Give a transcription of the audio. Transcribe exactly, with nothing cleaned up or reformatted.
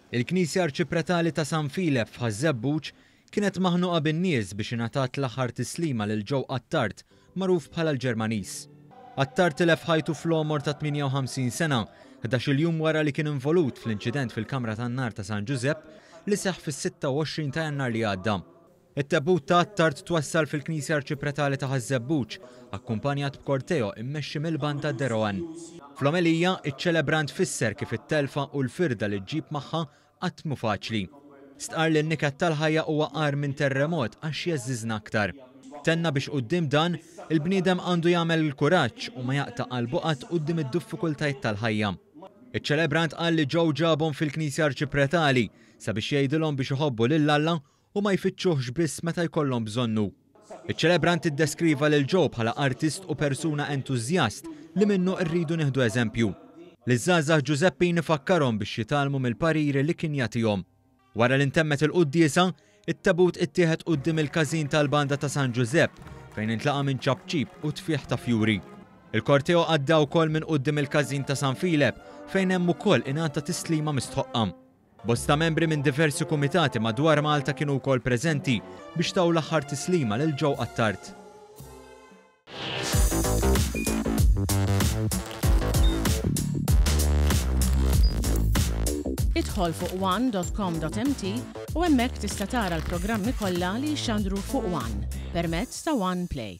Il-Knisja Arċipretali ta' San Filep f'Ħaż-Żebbuġ kienet maħnuqa bin-nies biex ingħatat l-aħħar tislima lil Joe Attard, magħruf bħala l-Ġermaniż. Attard tilef ħajtu fl-għomor ta' tmienja u ħamsin sena, ħdax-il jum wara li kien involut fl-inċident fil-Kamra tan-Nar ta' San Ġużepp li seħħ fis-sitta u għoxrin ta' Jannar li għadda. It-tebut ta' Attard twassal fil-Knisja Arċipretali ta' Ħaż-Żebbuġ, akkumpanjat b'korteo immexxi mill-banda Deroan. Fl-omelija, iċ-ċelebrant fisser kif it-telfa u l-firda li ġġib magħha qatt mhu faċli. Stqarr li n-niket tal-ħajja huwa agħar minn terremot għax jeżżiżna aktar. Tenna biex quddiem dan, il-bniedem għandu jagħmel il-kuraġġ u ma jaqta' qalbu qatt quddiem id-diffikultajiet tal-ħajja. Iċ-ċelebrant qal li Joe ġabhom fil-Knisja Arċipretali sabiex jgħidilhom biex iħobbu lil Alla u ma jfittxuhx biss meta jkollhom bżonnu. Iċ-ċelebrant iddeskriva lil Joe bħala artist u persuna entużjast li minnu rridu nieħdu eżempju. Liż-żgħażagħ Ġużeppin ifakkarhom biex jitgħallmu mill-pariri li kien jagħtihom. Wara li ntemmet il-quddiesa, it-tebut ittieħed quddiem il-każin tal-banda ta' San Ġużepp fejn intlaqa' minn ċapċip u tfieħ ta' fjuri. Il-korteo għadda wkoll minn quddiem il-każin ta' San Filep fejn hemm ukoll ingħata tislima mistħoqqa. Bosta membri minn diversi kumitati madwar Malta kienu wkoll preżenti biex taw l-aħħar tislima lil Joe Attard. Idħol fuq one dot com dot m t u hemmhekk tista' tara l-programmi kollha li jixxandru fuq One permezz ta' One Play.